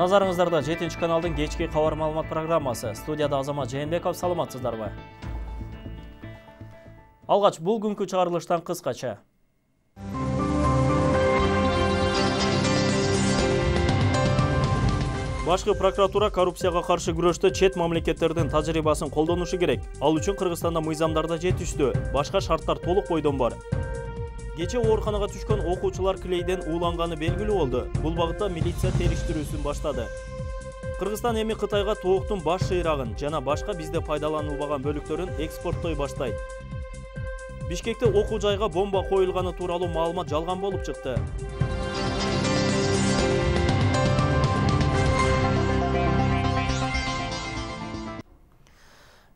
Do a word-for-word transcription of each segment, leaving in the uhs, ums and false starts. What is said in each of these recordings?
Назарыңыздарда жетинчи каналдын кечки кабар маалымат программасы. Студияда Азамат Жээнбеков, саламатсыздарбы? Алгач бул күnkү чыгарылыштан кыскача. Башкы прокуратура коррупцияга каршы күрөштө чет мамлекеттердин тажрыйбасын колдонушу керек. Ал үчүн Кыргызстанда мыйзамдарда жетиштүү, башка шарттар толук бойдон бар. Кече ооруканага түшкөн окуучулар клейден ууланганы белгилүү болду. Бул багытта милиция териштирүүсүн баштады. Кыргызстан эми Кытайга тооктун баш шыйрагын жана башка бизде пайдаланылбаган бөлүктөрүн экспорттой баштайт. Бишкекте окуу жайга бомба коюлганы тууралуу маалымат жалган болуп чыкты.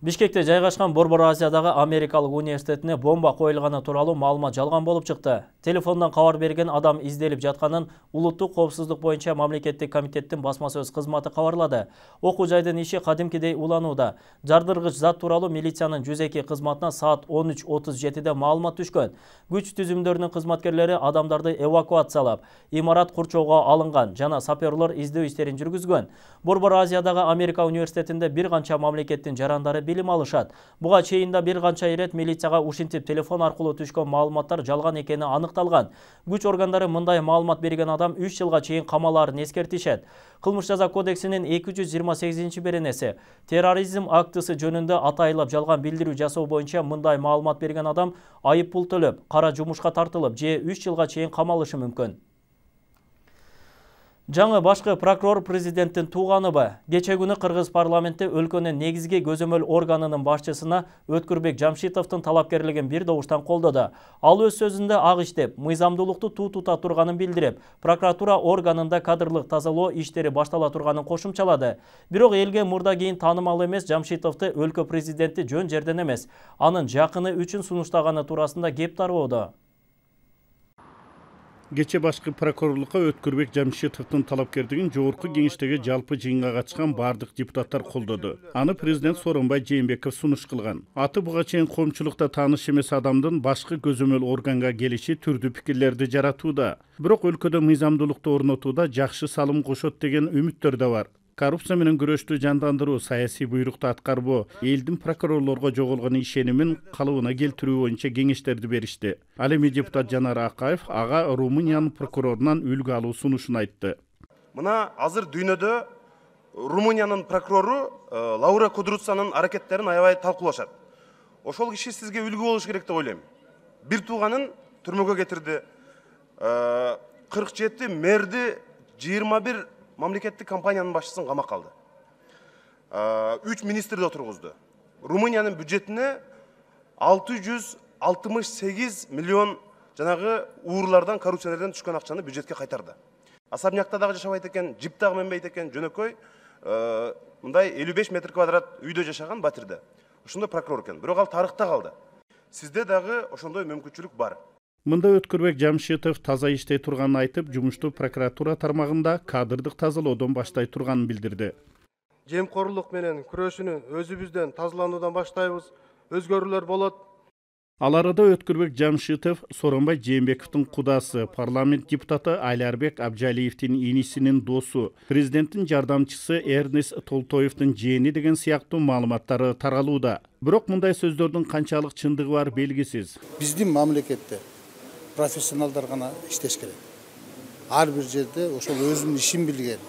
Бишкекте жайгашкан Борбор Азиядагы Америкалык университетине бомба коюлганы тууралуу маалымат жалган болуп чыкты. Телефондон кабар берген адам изделип жатканын Улуттук коопсуздук боюнча мамлекеттик комитеттин басма сөз кызматы кабарлады. Окуу жайдын иши кадимкидей уланууда. Жардыргыч зат тууралуу милициянын жүз эки кызматына саат он үч отуз жетиде маалымат түшкөн. Күч түзүмдөрүнүн кызматкерлери адамдарды эвакуациялап, имарат курчоого алынган жана саперлор издөө иштерин жүргүзгөн. Борбор Азиядагы Америка университетинде бир канча мамлекеттин жарандары билим алышат. Буга чейин да бир канча ирет милицияга ушинтип телефон аркылуу түшкөн маалыматтар жалган экени аныкталган. Күч органдары мындай маалымат берген адам үч жылга чейин камалаарын эскертишет. Кылмыш жаза кодексинин эки жүз жыйырма сегизинчи беренеси терроризм актысы жөнүндө атайылап жалган билдирүү жасоо боюнча мындай маалымат берген адам айып пул төлөп, кара жумушка тартылып, же үч жылга чейин камалышы мүмкүн. Жаңы башкы прокурор президенттин тууганыбы? Кече күнү Кыргыз парламенти өлкөнүн негизги көзөмөл органынын башчысына Өткүрбек Жамшитовдун талапкерлигин бир добуштан колдоду. Ал өз сөзүндө ак иштеп, мыйзамдуулукту туу тута турганын билдирип, прокуратура органында кадрлык тазалоо иштери баштала турганын кошумчалады. Бирок элге мурда кийин таанымал эмес Жамшитовду өлкө президенти жөн жерден эмес, анын жакыны үчүн сунуштаганы туурасында кеп тарбоодо. Кече башкы прокурорлукка Өткүрбек Жамшитовдун талапкерлигин жогорку кеңештеги жалпы жыйынга катышкан бардык депутаттар колдоду. Аны президент Сооронбай Жээнбеков сунуш кылган. Аты буга чейин коомчулукта тааныш эмес адамдын башкы көзөмөл органга келиши түрдүү пикирлерди жаратууда. Бирок өлкөдө мыйзамдуулукту орнотууда жакшы салым кошот деген үмүттөр да бар. Коррупция менен күрөштү жандандыруу, саясий буйрукту аткарбоо, элдин прокурорлорго жоголгон ишенимин калыбына келтирүү боюнча кеңештерди беришти. Ал эми депутат Жанар Акаев ага Румыниянын прокурорунан үлгү алуу сунушун айтты. Мына азыр дүйнөдө Румыниянын прокурору Лаура Кудруцанын аракеттерин аябай талкуулашат. Ошол киши сизге үлгү болуш керек деп ойлойм. Бир тууганын түрмөгө кетирди. кырк жети мэрди, жыйырма бир мамлекеттик компаниянын башчысын камакка алды. үч министрди отургузду. Румыниянын бюджетине алты жүз алтымыш сегиз миллион жанагы уурлардан, коррупционерден түшкөн акчаны бюджетке кайтарды. Особнякта дагы жашабайт экен, жип дагы менбейт экен, жөнөкөй мындай элүү беш метр квадрат үйдө жашаган Батирде. Ошондой прокурор экен. Бирок ал тарыхта калды. Сизде дагы ошондой мүмкүнчүлүк бар. Мында Өткүрбек Жамшитов таза иштей турганын айтып, жумушту прокуратура тармагында кадрдык тазалоодон баштай турганын билдирди. Жемкорлук менен күрөшүүнү өзүбүздөн тазалануудан баштайбыз, өзгөрүүлөр болот. Ал арада Өткүрбек Жамшитов Сооронбай Жээнбековдун кудасы, парламент депутаты Айларбек Абжалиевдин инисинин досу, президенттин жардамчысы Эрнест Толтоевдун жээни деген сыяктуу маалыматтары таралууда. Бирок мындай сөздөрдүн канчалык чындыгы бар белгисиз. Биздин мамлекетте профессионалдар гана иштеш керек. Ар бир жерде ошол өзүнүн ишин билген,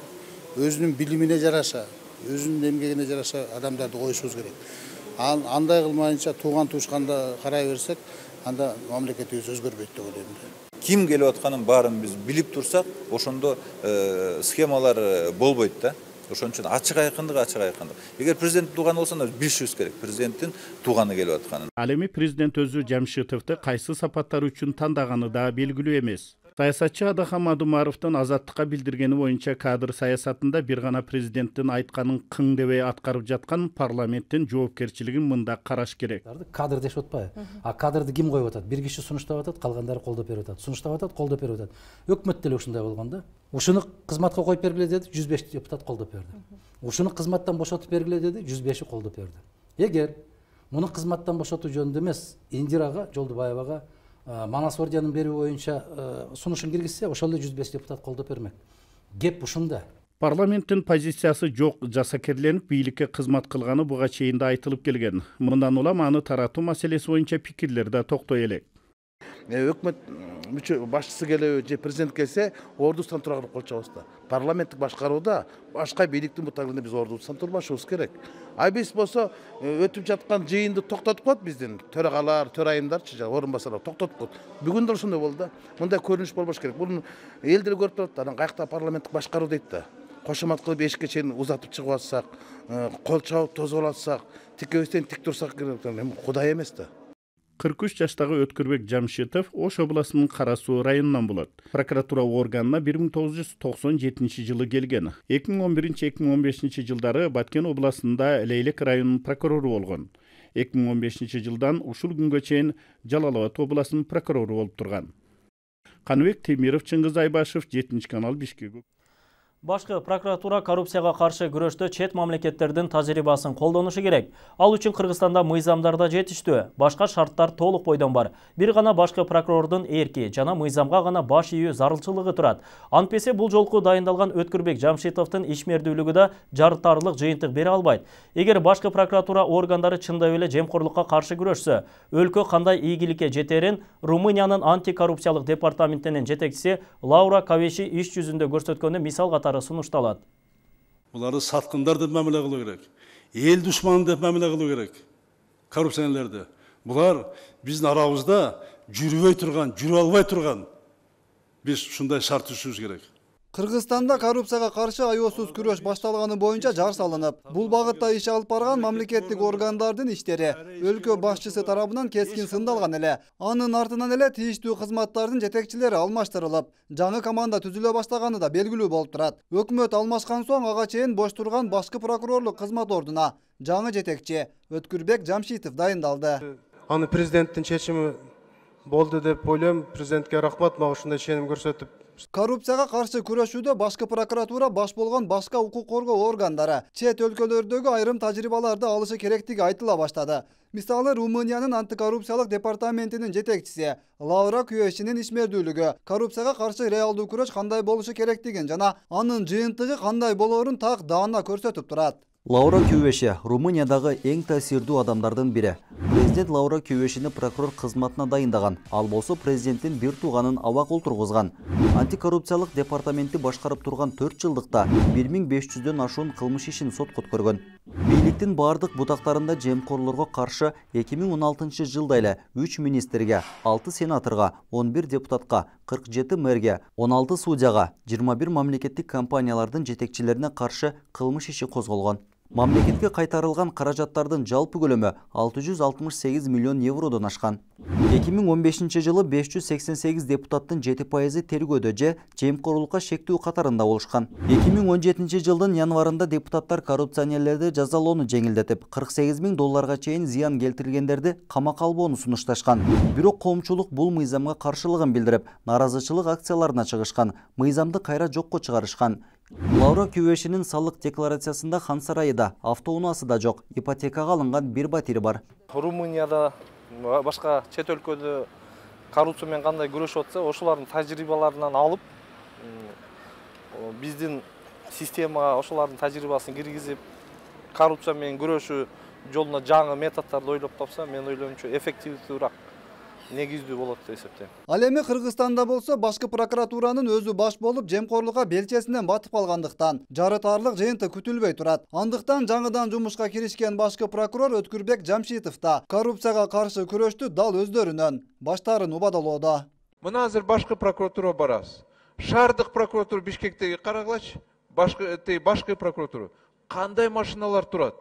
өзүнүн билимине жараша, өзүнүн эмгегине жараша адамдарды коюшубуз керек. Андай кылмайынча тууган туушканда карай берсек, анда мамлекетибиз өзгөрбөйт деп ойлойм. Ким келип атканын баарын биз билип турсак, ошондо схемалар болбойт да. Ошон үчүн ачык айкындык, ачык айкындык. Эгер президент тууганы болсо, билишибиз керек. Президенттин тууганы келип атканын. Ал эми президент өзү Жамшитовду кайсы сапаттар үчүн тандаганы да белгилүү эмес. Саясатчы Адахан Мадумаровдун Азаттыкка билдиргени боюнча кадр саясатында бир гана президенттин айтканын кың дебей аткарып жаткан парламенттин жоопкерчилигин мында караш керек. Кадр дешип атпайбы? А кадрды ким коюп атат? Бир киши сунуштап атат, калгандары колдоп берип атат. Сунуштап атат, колдоп берип атат. Өкмөт деле ушундай болгон да. Ушуну кызматка коюп бергиле деди, жүз беш депутат колдоп берди. Ушуну кызматтан бошотуп бергиле деди, жүз беши колдоп берди. Эгер муну кызматтан бошотуу жөнүндө эмес, Индирага Жолдубаевага Манас орденин берүү боюнча сунушун киргизсе, ошол эле жүз беш депутат колдоп бермек. Кеп ушунда. Парламенттин позициясы жок жасакерленип бийликке кызмат кылганы буга чейин да айтылып келген. Мындан улам аны таратуу маселеси боюнча пикирлер да токтой элек. Өкмөт мүчө башчысы келеби же президент келсе ордубуздан тура кылып кол чабабыз да. Парламенттик башкарууда башка бийликтин бутагында биз ордубуздан турбашыбыз керек. А биз болсо өтүп жаткан жыйынды токтотуп коет биздин төрагалар, төрайымдарчы, орун басарлар токтотуп коет. Бүгүн да ошондой болду да. Мындай көрүнүш болбош керек. Бул эл деле көрүп турат да. Анан каякта парламенттик башкаруу дейт да. Кошомат кылып эшикке чейин узатып чыгып атсак, кол чабып тозуп атсак, тикебизден тик турсак керек. Кудай эмес да. кырк үч жаштагы Өткүрбек Жамшитов Ош областынын Кара Суу районунан болот. Прокуратура органына бир миң тогуз жүз токсон жетинчи жылы келген. эки миң он биринчи эки миң он бешинчи жылдары Баткен областында Лейлек районунун прокурору болгон. эки миң он бешинчи жылдан ушул күнгө чейин Жалал Абад областынын прокурору болуп турган. Каныбек Темиров, Чыңгыз Айбашев, жетинчи канал, Бишкек. Башкы прокуратура коррупцияга каршы күрөштө чет мамлекеттердин тажрыйбасын колдонушу керек. Ал үчүн Кыргызстанда мыйзамдарда жетиштүү, башка шарттар толук бойдон бар. Бир гана башкы прокурордун эрки жана мыйзамга гана баш ийүү зарылчылыгы турат. Антпесе бул жолку дайындалган Өткүрбек Жамшитовдун ишмердүүлүгү да жарытарлык жыйынтык бере албайт. Эгер башкы прокуратура органдары чындап эле жемкорлукка каршы күрөшсө, өлкө кандай ийгиликке жетерин Румыниянын антикоррупциялык департаментинин жетекчиси Лаура Кавеши иш жүзүндө көрсөткөнү мисал катары сунушталат. Буларды саткындар деп мамиле кылуу керек. Эл душманы деп мамиле кылуу керек. Коррупционерлерди. Булар биздин арабызда жүрбөй турган, жүрүп албай турган. Биз ушундай шарт түзүшүбүз керек. Кыргызстанда коррупцияга каршы аеосуз күрөш башталганы боюнча жар салынып, бул багытта иш алып барган мамлекеттик органдардын иштери өлкө башчысы тарабынан кескин сындалган эле. Анын артынан эле тийиштүү кызматтардын жетекчилери алмаштырылып, жаңы команда түзүлө баштаганы да белгилүү болуп турат. Өкмөт алмашкан соң ага чейин бош турган башкы прокурорлук кызмат ордуна жаңы жетекчи Өткүрбек Жамшитов дайындалды. Аны президенттин чечими болду деп ойлойм. Президентке рахмат, мага ушундай ченим көрсөтүп. Коррупцияга каршы күрөшүүдө башкы прокуратура баш болгон башка укук коргоо органдары чет өлкөлөрдөгү айрым тажрыйбаларды алышы керектиги айтыла баштады. Мисалы, Румыниянын антикоррупциялык департаментинин жетекчиси Лаура Кавешинин ишмердүүлүгү коррупцияга каршы реалдуу күрөш кандай болушу керектигин жана анын жыйынтыгы кандай болоорун так даана көрсөтүп турат. Лаура Кавеши Румыниядагы эң таасирдүү адамдардын бири. Президент Лаура Кавешини прокурор кызматына дайындаган. Ал болсо президенттин бир тууганын абак олтургузган. Антикоррупциялык департаменти башкарып турган төрт жылдыкта бир миң беш жүздөн ашуун кылмыш ишин сотко өткөргөн. Бийликтин бардык бутактарында жемкорлорго каршы эки миң он алтынчы жылда эле үч министрге, алты сенаторго, он бир депутатка, кырк жети мэрге, он алты судьяга, жыйырма бир мамлекеттик компаниялардын жетекчилерине каршы кылмыш иши козголгон. Мамлекетке кайтарылган каражаттардын жалпы көлөмү алты жүз алтымыш сегиз миллион евродон ашкан. эки миң он бешинчи жылы беш жүз сексен сегиз депутаттын жети пайызы тергөөдө же жемкорлукка шектүү катарында болушкан. эки миң он жетинчи жылдын январында депутаттар коррупционерлерди жазалоону жеңилдетип, кырк сегиз миң долларга чейин зыян келтиргендерди камакка албоону сунушташкан. Бирок коомчулук бул мыйзамга каршылыгын билдирип, нааразычылык акцияларына чыгышкан, мыйзамды кайра жокко чыгарышкан. Лаура Кавешинин салык декларациясында хан сарайы да, автоунаасы да жок, ипотекага алынган бир батири бар. Румынияда башка чет өлкөдө коррупция менен кандай күрөшүп атса, ошолордун тажрыйбаларынан алып, биздин системага ошолордун тажрыйбасын киргизип, коррупция менен күрөшүү жолуна жаңы методдорду ойлоп тапса, мен ойлоймчу эффективдүүрөөк, негиздүү болот деп эсептейм. Ал эми Кыргызстанда болсо башкы прокуратуранын өзү баш болуп жемкорлукка белчесинен батып калгандыктан жарытарлык жыйынтык күтүлбөй турат. Андыктан жаңыдан жумушка киришкен башкы прокурор Өткүрбек Жамшитов да коррупцияга каршы күрөштү дал өздөрүнөн баштарын убадалоодо. Мына азыр башкы прокуратура барабыз. Шаардык прокуратура Бишкектеги карагылачы, башкы башкы прокуратура кандай машиналар турат?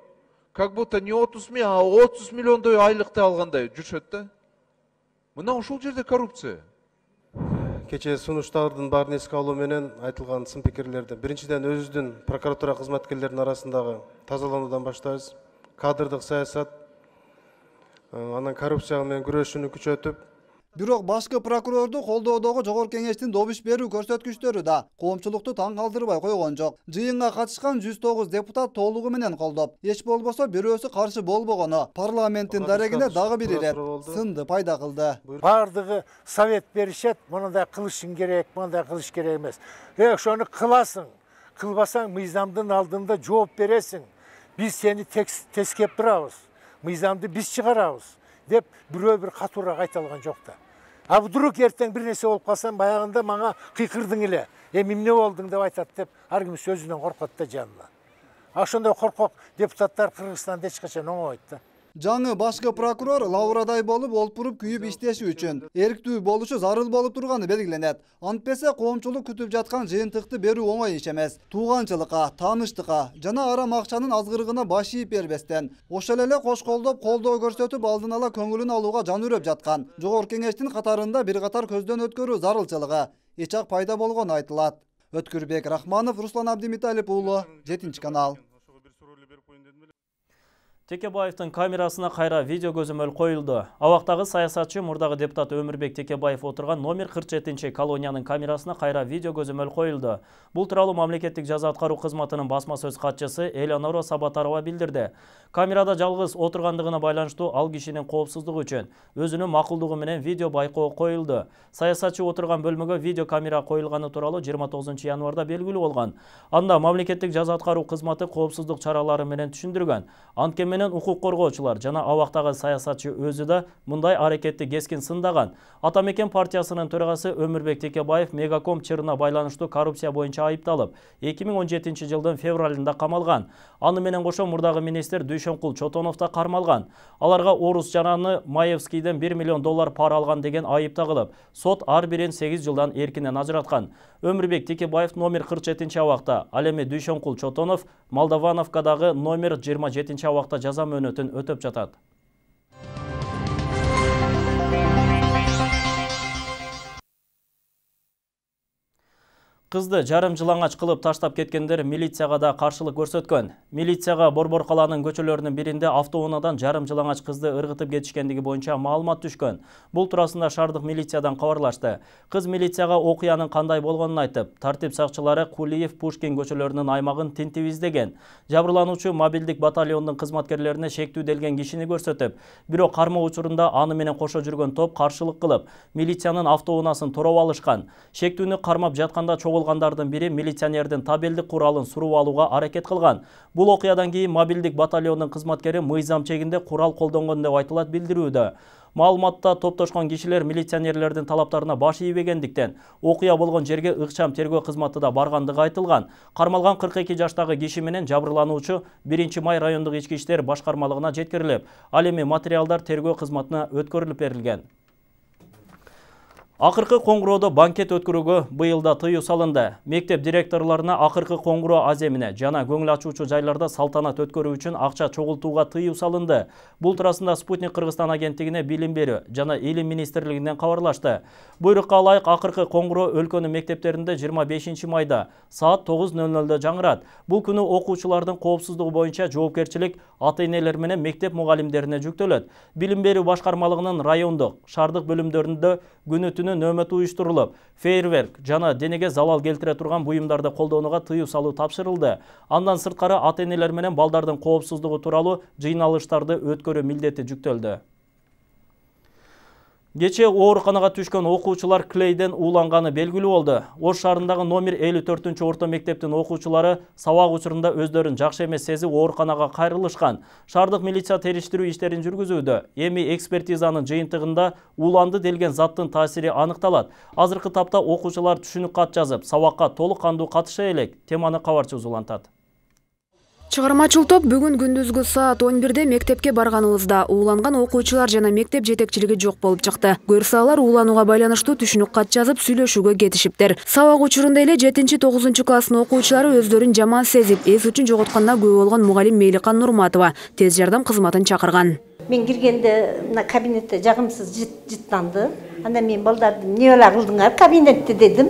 Как будто не отуз миң, а отуз миллиондой айлыкты алгандай жүрүшөт да. Мына ушул жерде коррупция. Кече сунуштардын баарын эске алуу менен айтылган сын пикирлерди биринчиден өзүбүздүн прокуратура кызматкерлеринин арасындагы тазалануудан баштайбыз. Кадрдык саясат, анан коррупция менен күрөшүүнү күчөтүп. Бирок башкы прокурорду колдоодогу жогорку кеңештин добуш берүү көрсөткүчтөрү да коомчулукту таң калтырбай койгон жок. Жыйынга катышкан жүз тогуз депутат толугу менен колдоп, эч болбосо бирөөсү каршы болбогону парламенттин дарегине дагы бир ирет сынды пайда кылды. Бардыгы совет беришет, мындай кылышың керек, мындай кылыш керек эмес. Э, ошону кыласың. кылбасаң мыйзамдын алдында жооп бересиң. Биз сени тескеп турабыз. Мыйзамды биз чыгарабыз деп бирөө бир катуураак айта алган жок да. А вдруг эртең бир нерсе болуп калсам баягында мага кыйкырдың эле. Эми эмне болдуң деп айтат деп ар ким сөзүнөн коркот да жанына. Ошондой коркок депутаттар Кыргызстанда эч качан оңойт да. Жаңы башкы прокурор Лаурадай болуп олпуруп күйүп иштеши үчүн эрктүү болушу зарыл болуп турганы белгиленет. Антпесе коомчулук күтүп жаткан жыйынтыкты берүү оңой иш эмес. Тууганчылыкка, тааныштыкка жана арам акчанын азгырыгына баш ийип бербестен, ошол эле кош колдоп колдоо көрсөтүп алдын ала көңүлүн алууга жан үрөп жаткан Жогорку Кеңештин катарында бир катар көздөн өткөрүү зарылчылыгы эч ак пайда болгону айтылат. Өткүрбек Рахманов, Руслан Абдимиталип уулу, жетинчи канал. Текебаевдин камерасына кайра видео көзөмөл коюлду. Абактагы саясатчы мурдагы депутат Өмүрбек Текебаев отурган номер кырк жетинчи колониянын камерасына кайра видео көзөмөл коюлду. Бул тууралуу мамлекеттик жаза аткаруу кызматынын басма сөз катчысы Элеонора Сабатарова билдирди. Камерада жалгыз отургандыгына байланыштуу ал кишинин коопсуздугу үчүн өзүнүн макулдугу менен видео байкоо коюлду. Саясатчы отурган бөлмөгө видео камера коюлганы тууралуу жыйырма тогузунчу январда белгилүү болгон. Анда мамлекеттик жаза аткаруу кызматы коопсуздук чаралары менен түшүндүргөн. Анткени укук коргоочулар жана абактагы саясатчы өзү да мындай аракетти кескин сындаган. Ата Мекен партиясынын төрагасы Өмүрбек Текебаев Мегаком чырына байланыштуу коррупция боюнча айыпталып, эки миң он жетинчи жылдын февралында камалган. Аны менен кошо мурдагы министр Дүйшөнкул Чотонов да кармалган. Аларга Орус Жананы Маевскийден бир миллион доллар пара алган деген айып тагылып, сот ар бирин сегиз жылдан эркинен ажыраткан. Өмүрбек Текебаев номер кырк жетинчи абакта, ал эми Дүйшөнкул Чотонов Молдовановкадагы номер жыйырма жетинчи абакта жаза мөөнөтүн өтөп жатат. Кызды жарым жылаңач кылып таштап кеткендер милицияга да каршылык көрсөткөн. Милицияга Борбор калаанын көчөлөрүнүн биринде автоунаадан жарым жылаңач кызды ыргытып кетишкендиги боюнча маалымат түшкөн. Бул туурасында шаардык милициядан кабарлашты. Кыз милицияга окуянын кандай болгонун айтып, тартип сакчылары Кулиев, Пушкин көчөлөрүнүн аймагын тинтип издеген. Жабырлануучу мобилдик батальондун кызматкерлерине шектүүделген кишини көрсөтүп, бирок кармоо учурунда аны менен кошо жүргөн топ каршылык кылып, милициянын автоунаасын тороп алышкан. Шектүүнү кармап жатканда чогулгандардын бири милиционердин табелдик куралын суруп алууга аракет кылган. Бул окуядан кийин мобилдик батальондун кызматкери мыйзам чегинде курал колдонгон деп айтылат билдирүүдө. Маалыматта топтошкон кишилер милиционерлердин талаптарына баш ийбегендиктен окуя болгон жерге ыкчам тергөө кызматы да баргандыгы айтылган. Кармалган кырк эки жаштагы киши менен жабырлануучу биринчи май райондук ички иштер башкармалыгына жеткирилип, ал эми материалдар тергөө кызматына өткөрүлүп берилген. Акыркы коңгуроодо банкет өткөрүүгө быйылда тыюу салынды. Мектеп директорлоруна акыркы коңгуроо аземине жана көңүл ачуучу жайларда салтанат өткөрүү үчүн акча чогултууга тыюу салынды. Бул туурасында Спутник Кыргызстан агенттигине билим берүү жана илим министрлигинен кабарлашты. Буйрукка ылайык акыркы коңгуроо өлкөнүн мектептеринде жыйырма бешинчи майда саат тогуз нөл нөлдө жаңырат. Бул күнү окуучулардын коопсуздугу боюнча жоопкерчилик ата-энелер менен мектеп мугалимдерине жүктөлөт. Билим берүү башкармалыгынын райондук, шаардык бөлүмдөрүндө күнү түнү нөөмөт уюштурулуп, фейерверк жана денеге залал келтире турган буюмдарды колдонууга тыюу салуу тапшырылды. Андан сырткары ата-энелер менен балдардын коопсуздугу тууралуу жыйналыштарды өткөрүү милдети жүктөлдү. Кече ооруканага түшкөн окуучулар клейден ууланганы белгилүү болду. Ош шаарындагы номер элүү төртүнчү орто мектептин окуучулары сабак учурунда өздөрүн жакшы эмес сезип ооруканага кайрылышкан. Шаардык милиция териштирүү иштерин жүргүзүүдө. Эми экспертизанын жыйынтыгында ууланды делген заттын таасири аныкталат. Азыркы тапта окуучулар түшүнүк кат жазып, сабакка толук кандуу катыша элек. Теманы кабарчы узулантат. Чыгармачыл топ бүгүн күндүзгү саат он бирде мектепке барганыбызда ууланган окуучулар жана мектеп жетекчилиги жок болуп чыкты. Көрсө алар ууланууга байланыштуу түшүнүк кат жазып сүйлөшүүгө кетишиптир. Сабак учурунда эле жетинчи тогузунчу класстын окуучулары өздөрүн жаман сезип, эс үчүн жоготконуна күбө болгон мугалим Мейликан Нурматова тез жардам кызматын чакырган. Мен киргенде мына кабинетте жагымсыз жыттанды. Анда мен балдарды эмне бала кылдыңар кабинетте дедим.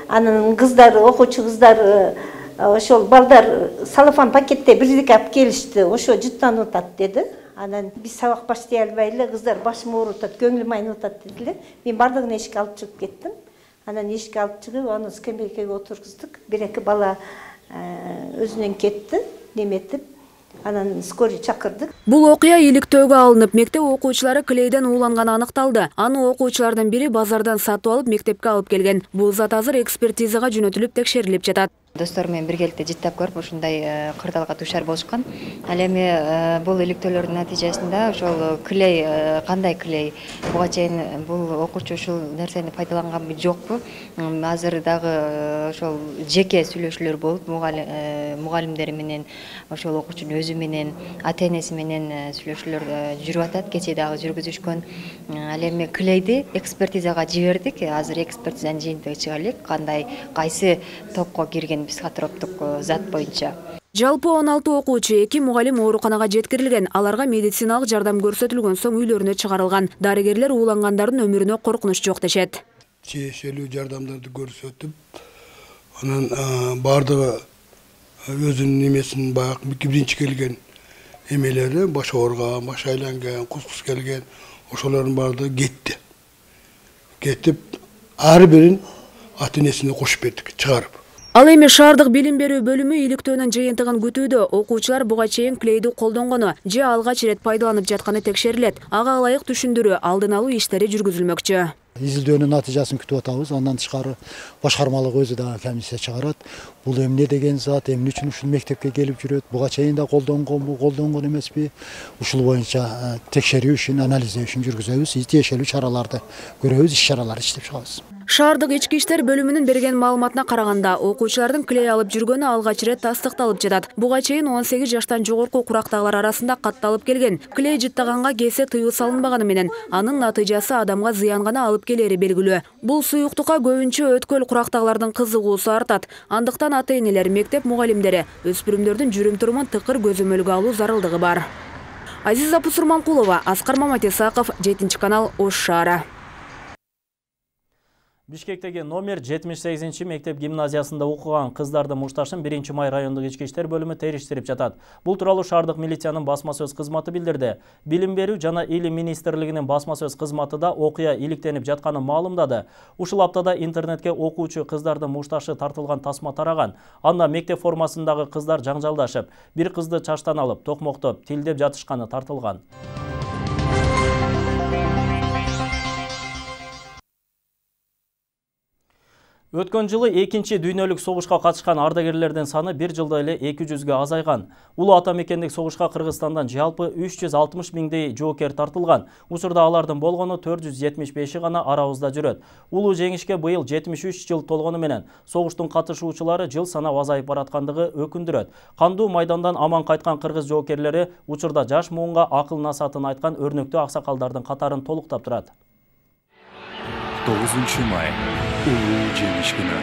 Анын кыздар, окуучу кыздар ошол балдар салофан пакетте бирдеке алып келишти. Ошо жыттанып атат деди. Анан биз сабак баштай албай эле кыздар башым ооруп атат, көңүлүм айнып атат дедилер. Мен бардыгын эшикке алып чыгып кеттим. Анан эшикке алып чыгып, аны скамейкага отургуздук. Бир-эки бала өзүнөн кетти, неметип. Анан скорый чакырдык. Бул окуя иликтөөгө алынып, мектеп окуучулары клейден ууланганы аныкталды. Аны окуучулардын бири базардан сатып алып мектепке алып келген. Бул зат азыр экспертизага жөнөтүлүп текшерилип жатат. Достор менен биргеликте жыттап көрүп ушундай кырдаалга дуушар болушкан. Ал эми бул иликтөөлөрдүн натыйжасында ошол клей, кандай клей, буга чейин бул окуучу ушул нерсени пайдаланганбы жокпу? Азыр дагы ошол жеке сүйлөшүүлөр болуп, мугалимдери менен, ошол окуучунун өзү менен, ата-энеси менен сүйлөшүүлөр жүрүп атат. Кечээ дагы жүргүзүшкөн. Ал эми клейди экспертизага жибердик. Азыр экспертизанын жыйынтыгы чыга элек. Кандай, кайсы топко кирген психотроптук зат боюнча. Жалпы он алты окуучу, эки мугалим ооруканага жеткирилген. Аларга медициналык жардам көрсөтүлгөн соң үйлөрүнө чыгарылган. Дарыгерлер уулангандардын өмүрүнө коркунуч жок дешет. Тиешелүү жардамдарды көрсөтүп, анан бардыгы өзүнүн немесин баягы биринчи келген эмелери, баш оорган, баш айланган, кускус келген, ошолордун бардыгы кетти. Кетип, ар бирин ата-энесине кошуп бердик, чыгарып. Ал эми шаардык билим берүү бөлүмү иликтөөнүн жыйынтыгын күтүүдө. Окуучулар буга чейин клейди колдонгону же алгач ирет пайдаланып жатканы текшерилет. Ага ылайык түшүндүрүү, алдын алуу иштери жүргүзүлмөкчү. Изилдөөнүн натыйжасын күтүп атабыз. Андан тышкары башкармалык өзү дагы комиссия чыгарат. Бул эмне деген зат, эмне үчүн ушул мектепке келип жүрөт, буга чейин да колдонгонбу, колдонгон эмеспи? Ушул боюнча текшерүү ишин, анализдөө ишин жүргүзөбүз, тиешелүү чараларды көрөбүз, иш-чаралар иштеп чыгабыз. Шаардык ички иштер бөлүмүнүн берген маалыматына караганда, окуучулардын клей алып жүргөнү алгач ирет тастыкталып жатат. Буга чейин он сегиз жаштан жогорку курактагылар арасында катталып келген. Клей жыттаганга кесе тыюу салынбаганы менен анын натыйжасы адамга зыян гана алып келери белгилүү. Бул суюктукка көбүнчө өткөл курактагылардын кызыгуусу артат. Андыктан ата-энелер, мектеп мугалимдери өспүрүмдөрдүн жүрүм-турумун тыкыр көзөмөлгө алуу зарылдыгы бар. Азиза Пусурманкулова, Аскар Маматисаков, жетинчи канал, Ош шаары. Бишкектеги номер жетимиш сегизинчи мектеп гимназиясында окуган кыздардын мушташын биринчи май райондук ички иштер бөлүмү териштирип жатат. Бул тууралуу шаардык милициянын басма сөз кызматы билдирди. Билим берүү жана илим министрлигинин басма сөз кызматы да окуя иликтенип жатканын маалымдады. Ушул аптада интернетке окуучу кыздардын мушташы тартылган тасма тараган. Анда мектеп формасындагы кыздар жаңжалдашып, бир кызды чачтан алып, токмоктоп, тилдеп жатышканы тартылган. Өткөн жылы экинчи дүйнөлүк согушка катышкан ардагерлердин саны бир жылда эле эки жүзгө азайган. Улуу ата мекендик согушка Кыргызстандан жалпы үч жүз алтымыш миңдей жоокер тартылган. Учурда алардын болгону төрт жүз жетимиш беши гана арабызда жүрөт. Улуу жеңишке быйыл жетимиш үч жыл толгону менен согуштун катышуучулары жыл санап азайып бараткандыгы өкүндүрөт. Кандуу майдандан аман кайткан кыргыз жоокерлери учурда жаш муунга акыл насаатын айткан өрнөктүү аксакалдардын катарын толуктап турат. тогузунчу май улуу жеңиш күнү.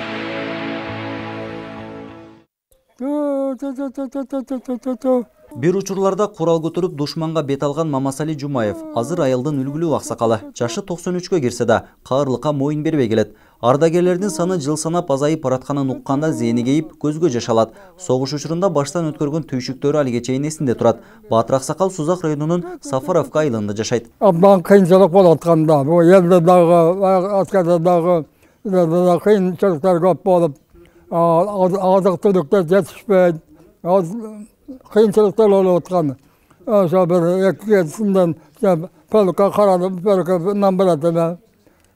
Бир учурларда курал көтөрүп душманга бет алган Мамасали Жумаев азыр айылдын үлгүлүү аксакалы. Жашы токсон үчкө кирсе да каырлыкка моюн бербей келет. Ардагерлердин саны жыл санап азайып баратканын укканда зээни кейип, көзгө жаш алат. Согуш учурунда баштан өткөргөн түйшүктөрү алиге чейин эсинде турат. Баатыр аксакал Сузак районунун Сафаровка айылында жашайт. Абдан кыйынчылык болуп атканда, бул элде дагы, аскарда дагы кыйынчылыктар көп болуп, азык түлүктөр жетишпейт. Кыйынчылыктар болуп аткан. Ошо бир эки сындан полка карадым, полкадан барат эле.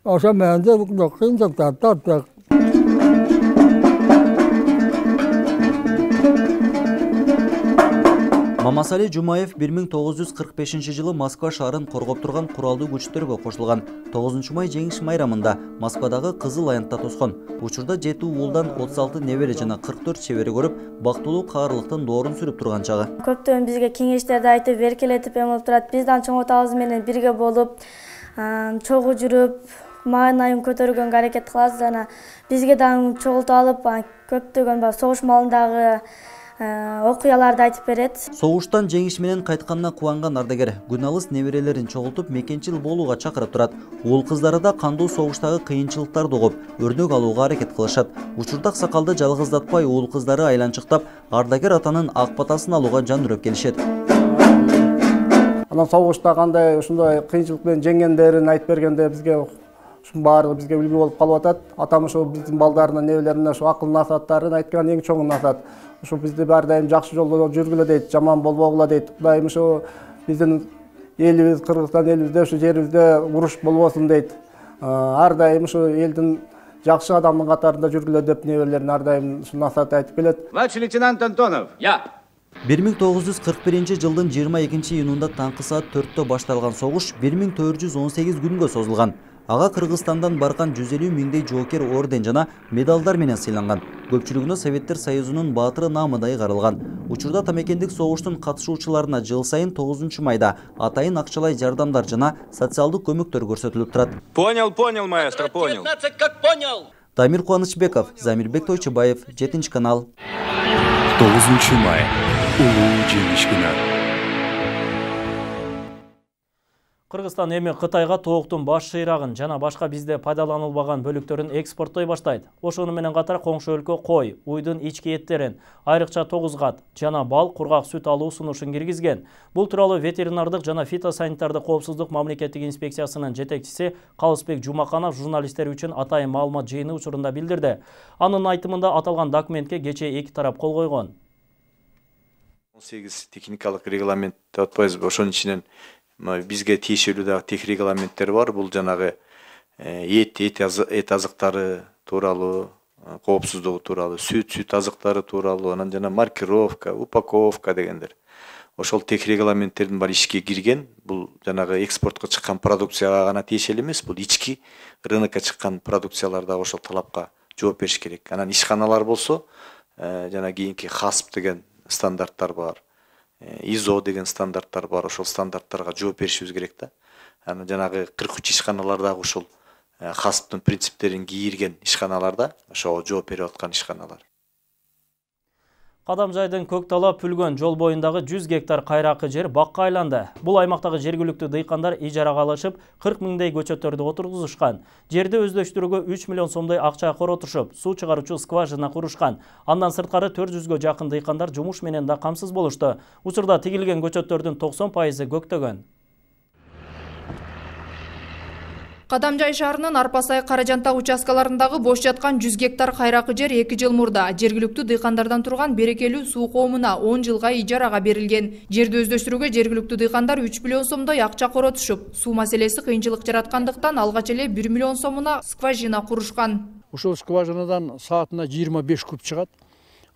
Ошо менен кыйынчылыктар тарттык. Мамасали Жумаев бир миң тогуз жүз кырк бешинчи жылы Москва шаарын коргоп турган куралдуу күчтөргө кошулган. тогузунчу май жеңиш майрамында Москвадагы Кызыл аянтта тоскон. Учурда жети уулдан отуз алты небере жана кырк төрт чебери көрүп, бактылуу каырлыктын доорун сүрүп турган чагы. Көптөн бизге кеңештерди айтып, эркелетип эмелеп турат. Биздин чоң атабыз менен бирге болуп, чогуу жүрүп, маанайын көтөргөнгө аракет кылабыз. Жана бизге дагы чогултуп алып, көптөгөн согуш маалындагы окуяларды айтып берет. Согуштан жеңиш менен кайтканына кубанган ардагер күн алыс неберелерин чогултуп мекенчил болууга чакырып турат. Уул кыздары да кандуу согуштагы кыйынчылыктарды угуп, өрнөк алууга аракет кылышат. Учурда аксакалды жалгыздатпай уул кыздары айланчыктап, ардагер атанын ак батасын алууга жан үрөп келишет. Анан согушта кандай ушундай кыйынчылык менен жеңгендерин айтып бергенде бизге ушун баары бизге үлгү болуп калып атат. Атам ушу биздин балдарына, небелерине ушу акыл насааттарын айткан эң чоң насаат. Ушу бизди ар дайым жакшы жолдо жүргүлө дейт, жаман болбогула дейт. Кудайым ушу биздин элибиз, Кыргызстан элибизде, ушу жерибизде уруш болбосун дейт. Ар дайым ушу элдин жакшы адамдын катарында жүргүлө деп небелерин ар дайым насаат айтып келет. Младший лейтенант Антонов. Я. бир миң тогуз жүз кырк биринчи жылдын жыйырма экинчи июнунда таңкы саат төрттө башталган согуш бир миң төрт жүз он сегиз күнгө созулган. Ага Кыргызстандан барган жүз элүү миңдей жоокер орден жана медалдар менен сыйланган. Көпчүлүгүнө Советтер Союзунун баатыры наамыдай каралган. Учурда тамекендик согуштун катышуучуларына жыл сайын тогузунчу майда атайын акчалай жардамдар жана социалдык көмөктөр көрсөтүлүп турат. Понял, понял, маэстро, понял. Как понял. Дамир Кубанычбеков, Замирбек Тойчубаев, жетинчи канал. тогузунчу май. Улуу жеңиш күнү. Кыргызстан эми Кытайга тооктун баш шыйрагын жана башка бизде пайдаланылбаган бөлүктөрүн экспорттой баштайт. Ошону менен катар коңшу өлкө кой, уйдун ички эттерин, айрыкча тогуз кат жана бал, кургак сүт алуу сунушун киргизген. Бул тууралуу ветеринардык жана фитосанитардык коопсуздук мамлекеттик инспекциясынын жетекчиси Калысбек Жумаканов журналисттер үчүн атайын маалымат жыйыны учурунда билдирди. Анын айтымында аталган документке кечээ эки тарап кол койгон. он сегиз техникалык регламент деп атпайбызбы, ошонун ичинен бизге тиешелүү дагы тех регламенттер бар. Бул жанагы эт, эт азыктары тууралуу, коопсуздугу тууралуу, сүт, сүт азыктары тууралуу, анан жана маркировка, упаковка дегендер. Ошол тех регламенттердин баары ишке кирген. Бул жанагы экспортко чыккан продукцияга гана тиешелүү эмес, бул ички рынокко чыккан продукциялар да ошол талапка жооп бериш керек. Анан ишканалар болсо, жана кийинки хасп деген стандарттар бар. изо деген стандарттар бар, ошол стандарттарга жооп беришибиз керек да. Анан жанагы кырк үч ишканалар дагы ушул хасптын принциптерин кийирген ишканаларда, ошого жооп берип аткан ишканалар. Кадамжайдын Көктала Пүлгөн жол боюндагы жүз гектар кайракы жер бакка айланды. Бул аймактагы жергиликтүү дыйкандар ижарага алышып, кырк миңдей көчөттөрдү отургузушкан. Жерди өздөштүрүүгө үч миллион сомдой акча коротушуп, суу чыгаруучу скважина курушкан. Андан сырткары төрт жүзгө жакын дыйкандар жумуш менен да камсыз болушту. Учурда тигилген көчөттөрдүн токсон пайызы көктөгөн. Кадамжай шаарынын Арпасай Каражантак участкаларындагы бош жаткан жүз гектар кайракы жер эки жыл мурда жергиликтүү дыйкандардан турган берекелүү суу коомуна он жылга ижарага берилген. Жерди өздөштүрүүгө жергиликтүү дыйкандар үч миллион сомдой акча коротушуп, суу маселеси кыйынчылык жараткандыктан алгач эле бир миллион сомуна скважина курушкан. Ушул скважинадан саатына жыйырма беш куб чыгат.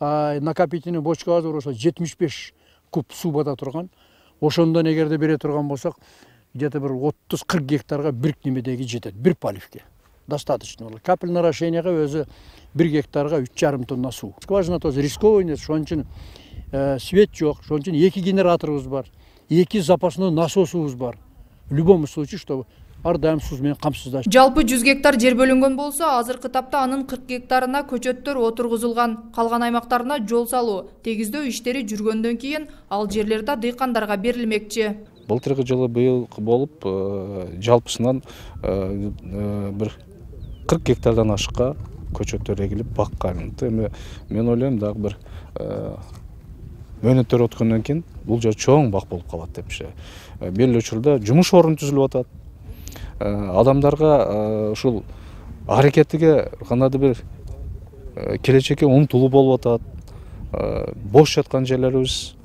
Накопительный бочкабыз болсо жетимиш беш куб суу бата турган. Ошондон эгерде бере турган болсок, где-то bir отуз кырк гектарга бир немедеги жетет, бир поливке. Достаточно. Капельное орошенияга өзү бир гектарга үч жарым тонна суу. Скважина тоже рисковый эмес, ошон үчүн свет жок, ошон үчүн эки генераторубуз бар, эки запасной насосубуз бар. В любом случае, чтобы ар дайым суу менен камсыздаш. Жалпы жүз гектар жер бөлүнгөн болсо, азыркы тапта анын кырк гектарына көчөттөр отургузулган. Калган аймактарына жол салуу, тегиздөө иштери жүргөндөн кийин ал жерлерде дыйкандарга берилмекчи. Былтыркы жылы быйыл болуп, жалпысынан бир кырк гектардан ашыкка көчөттөр эгилип бакка айланды. Эми мен ойлойм дагы бир мөөнөттөр өткөндөн кийин бул жер чоң бак болуп калат депчи. Белгилүү учурда жумуш орун түзүлүп атат. Адамдарга ушул аракетиге кандайдыр бир келечекке умтулуу болуп атат. Бош жаткан жерлерибиз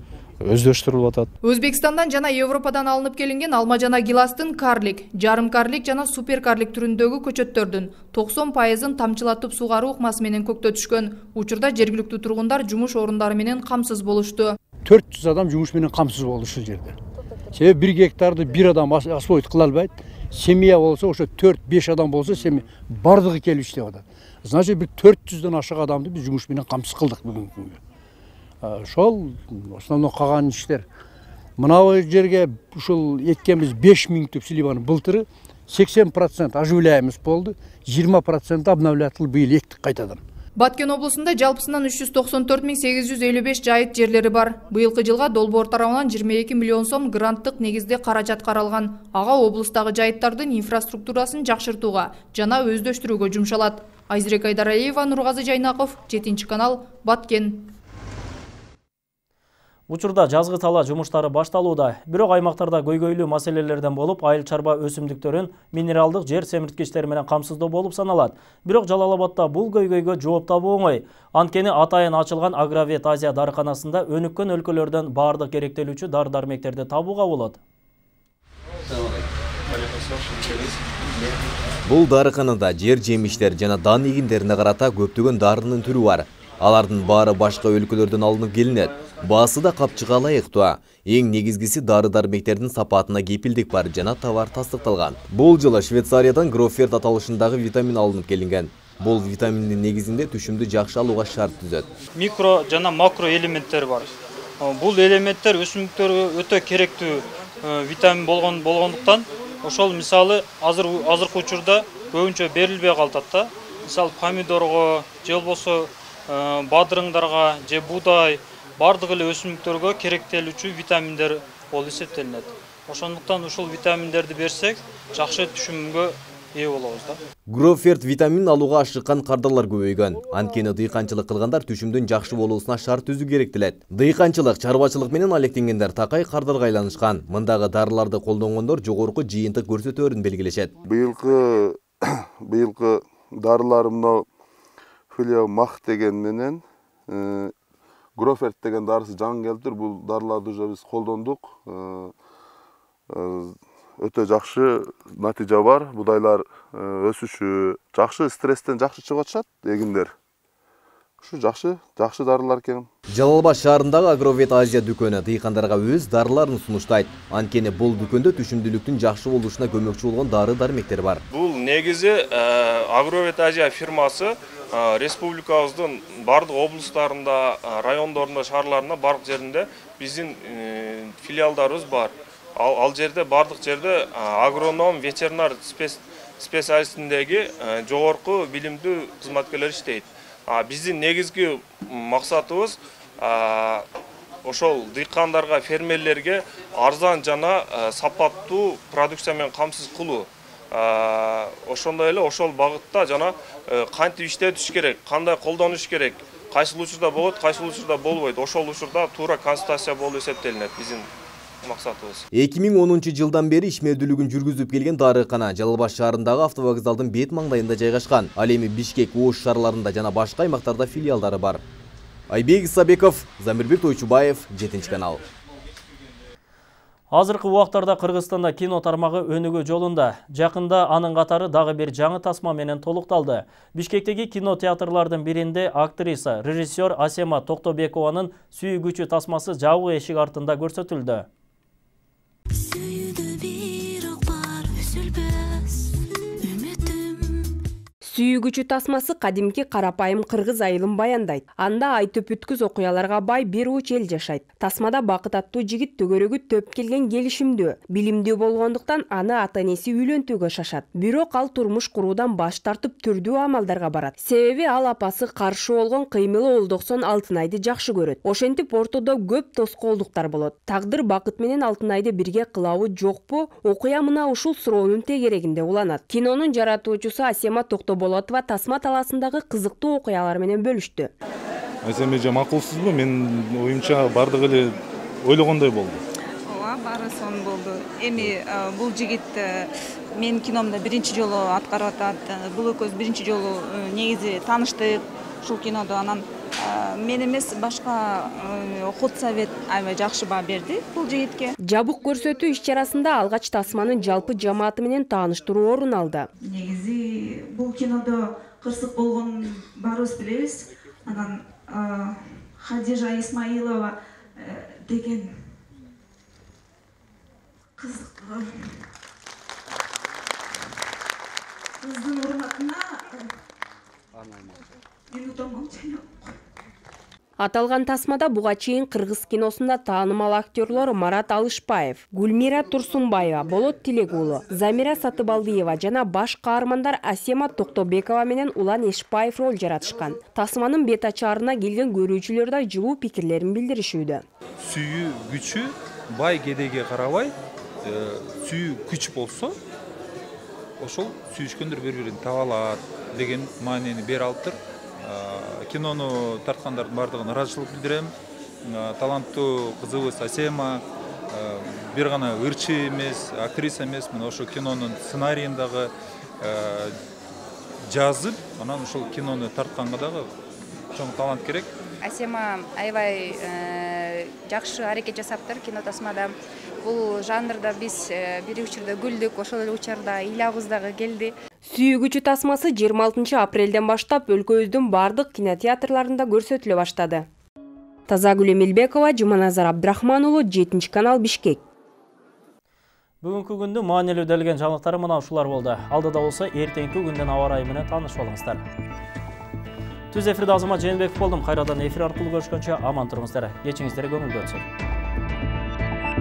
өздөштүрүлүп атат. Өзбекстандан жана Европадан алынып келинген алма жана гиластын карлик, жарым карлик жана супер карлик түрүндөгү көчөттөрдүн токсон пайызын тамчылатып сугаруу ыкмасы менен көктөтүшкөн. Учурда жергиликтүү тургундар жумуш орундары менен камсыз болушту. төрт жүз адам жумуш менен камсыз болду ушул жерде. Себеби бир гектарды бир адам освоить кыла албайт. Семья болсо, ошо төрт беш адам болсо, семья бардыгы келип иштеп атат. Значит, бир төрт жүздөн ашык адамды биз жумуш менен камсыз кылдык бүгүнкү күнгө. Ошол основной калган иштер. Мына жерге ушул эккенбиз беш миң түп сливаны былтыры сексен процент оживляемость болду, жыйырма процент обновлятылып быйыл эктик кайтадан. Баткен облусунда жалпысынан үч жүз токсон төрт миң сегиз жүз элүү беш жайыт жерлери бар. Быйылкы жылга долбоор тарабынан жыйырма эки миллион сом гранттык негизде каражат каралган. Ага облустагы жайыттардын инфраструктурасын жакшыртууга жана өздөштүрүүгө жумшалат. Айзирек Айдараева, Нургазы Жайнаков, жетинчи канал, Баткен. Учурда жазгы тала жумуштары башталууда. Бирок аймактарда көйгөйлүү маселелерден болуп, айыл чарба өсүмдүктөрүн минералдык жер семирткичтери менен камсыздоо болуп саналат. Бирок Жалал Абадда бул көйгөйгө жооп табуу оңой. Анткени атайын ачылган Агровет Азия дарыканасында өнүккөн өлкөлөрдөн баардык керектелүүчү дары-дармектерди табууга болот. Бул дарыканада жер жемиштер жана дан эгиндерине карата көптөгөн дарынын түрү бар. Алардын баары башка өлкөлөрдөн алынып келинет. Баасы да капчыга ылайыктуу. Эң негизгиси дары-дармектердин сапатына кепилдик бар жана товар тастыкталган. Бул жылы Швейцариядан Гроферт аталышындагы витамин алынып келинген. Бул витаминдин негизинде түшүмдү жакшы алууга шарт түзөт. Микро жана макро элементтер бар. Бул элементтер өсүмдүктөргө өтө керектүү витамин болгон болгондуктан ошол мисалы азыр азыркы учурда көбүнчө берилбей калат да. Мисалы помидорго, же болбосо бадырыңдарга, же буудай бардык эле өсүмдүктөргө керектелүүчү витаминдер болуп эсептелинет. Ошондуктан ушул витаминдерди берсек, жакшы түшүмгө ээ болобуз да. Гроферт витамин алууга ашыккан кардарлар көбөйгөн. Анткени дыйканчылык кылгандар түшүмдүн жакшы болуусуна шарт түзүү керектелет. Дыйканчылык, чарбачылык менен алектенгендер такай кардарга айланышкан. Мындагы дарыларды колдонгондор жогорку жыйынтык көрсөтөөрүн белгилешет. Быйылкы быйылкы дарылар мына Филиомах деген менен Гроферт деген дарысы жаңы келиптир. Бул дарыларды уже биз колдондук. Өтө жакшы натыйжа бар. Будайлар өсүшү жакшы, стресстен жакшы чыгып атышат эгиндер. Ушу жакшы, жакшы дарылар экен. Жалал Абад шаарындагы Агровет Азия дүкөнү дыйкандарга өз дарыларын сунуштайт. Анткени бул дүкөндө түшүмдүүлүктүн жакшы болушуна көмөкчү болгон дары-дармектер бар. Бул негизи Агровет Азия фирмасы республикабыздын бардык облустарында, райондорунда, шаарларында, бардык жеринде биздин филиалдарыбыз бар. Ал, ал жерде бардык жерде агроном, ветеринар специалистиндеги жогорку билимдүү кызматкерлер иштейт. Биздин негизги максатыбыз ошол дыйкандарга, фермерлерге арзан жана сапаттуу продукция менен камсыз кылуу. Ошондой эле ошол багытта жана кантип иштетиш керек, кандай колдонуш керек, кайсыл учурда болот, кайсыл учурда болбойт. Ошол учурда туура консультация болуп эсептелинет биздин максатыбыз. эки миң онунчу жылдан бери ишмердүүлүгүн жүргүзүп келген дарыкана Жалал Абад шаарындагы автовокзалдын бет маңдайында жайгашкан. Ал эми Бишкек, Ош шаарларында жана башка аймактарда филиалдары бар. Айбек Исабеков, Замирбек Тойчубаев, жетинчи канал. Азыркы убактарда Кыргызстанда кино тармагы өнүгүү жолунда. Жакында анын катары дагы бир жаңы тасма менен толукталды. Бишкектеги кинотеатрлардын биринде актриса, режиссер Асема Токтобекованын сүйүүгүчү тасмасы жабык эшик артында көрсөтүлдү. Сүйүүгүчү тасмасы кадимки карапайым кыргыз айылын баяндайт. Анда ай төпүткүз окуяларга бай бир уч эл жашайт. Тасмада Бакыт аттуу жигит төгөрөгү төп келген келишимдүү. Билимдүү болгондуктан аны ата-энеси үйлөнтүүгө шашат. Бирок ал турмуш куруудан баш тартып түрдүү амалдарга барат. Себеби ал апасы каршы болгон кыймылы Олдоксон Алтынайды жакшы көрөт. Ошентип ортодо көп тоскоолдуктар болот. Тагдыр Бакыт менен Алтынайды бирге кылабы жокпу? Окуя мына ушул суроонун тегерегинде уланат. Кинонун жаратуучусу Асема Токтобекова Болотова тасма таласындагы кызыктуу окуялар менен бөлүштү. Асема эже макулсузбу? Мен оюмча бардыгы эле ойлогондой болду. Ооба, баары сонун болду. Эми бул жигит менин киномдо биринчи жолу аткарып атат. Бул экөөбүз биринчи жолу негизи тааныштык ушул кинодо. Анан мен эмес башка ход совет аябай жакшы баа берди бул жигитке. Жабык көрсөтүү иш-чарасында алгач тасманын жалпы жамааты менен тааныштыруу орун алды. Негизи бул кинодо кырсык болгонун баарыбыз билебиз. Анан Хадижа Исмаилова деген кызык кыздын урматына Аталган тасмада буга чейин кыргыз киносунда таанымал актерлор Марат Алышбаев, Гүлмира Турсунбаева, Болот Тилек уулу, Замира Сатыбалдиева жана баш каармандар Асема Токтобекова менен Улан Эшбаев роль жаратышкан. Тасманын бет ачаарына келген көрүүчүлөр да жылуу пикирлерин билдиришүүдө. Сүйүү күчү бай кедейге карабай, сүйүү күч болсо, ошол сүйүшкөндөр бири-бирин таба алат деген маанини бере алыптыр. Кинону тарткандардын бардыгына ыраазычылык билдирем. Таланттуу кызыбыз Асема бир гана ырчы эмес, актриса эмес, мына ошо кинонун сценарийин дагы жазып, анан ошол кинону тартканга дагы чоң талант керек. Асема аябай жакшы аракет жасаптыр кино тасмада. Бул жанрда биз бир учурда күлдүк, ошол эле учурда ыйлабыз дагы келди. Сүйүү күчү тасмасы жыйырма алтынчы апрелден баштап өлкөбүздүн бардык кинотеатрларында көрсөтүлө баштады. Тазагүл Эмилбекова, Жуманазар Абдрахман уулу, жетинчи канал, Бишкек. Бүгүнкү күндүн маанилүү делген жаңылыктары мына ушулар болду. Алдыда болсо эртеңки күндүн аба ырайы менен таанышып алыңыздар. Түз эфирде Азамат Жээнбеков болдум. Кайрадан эфир аркылуу көрүшкөнчө аман туруңуздар. Кечиңиздер көңүлдүү өтсүн.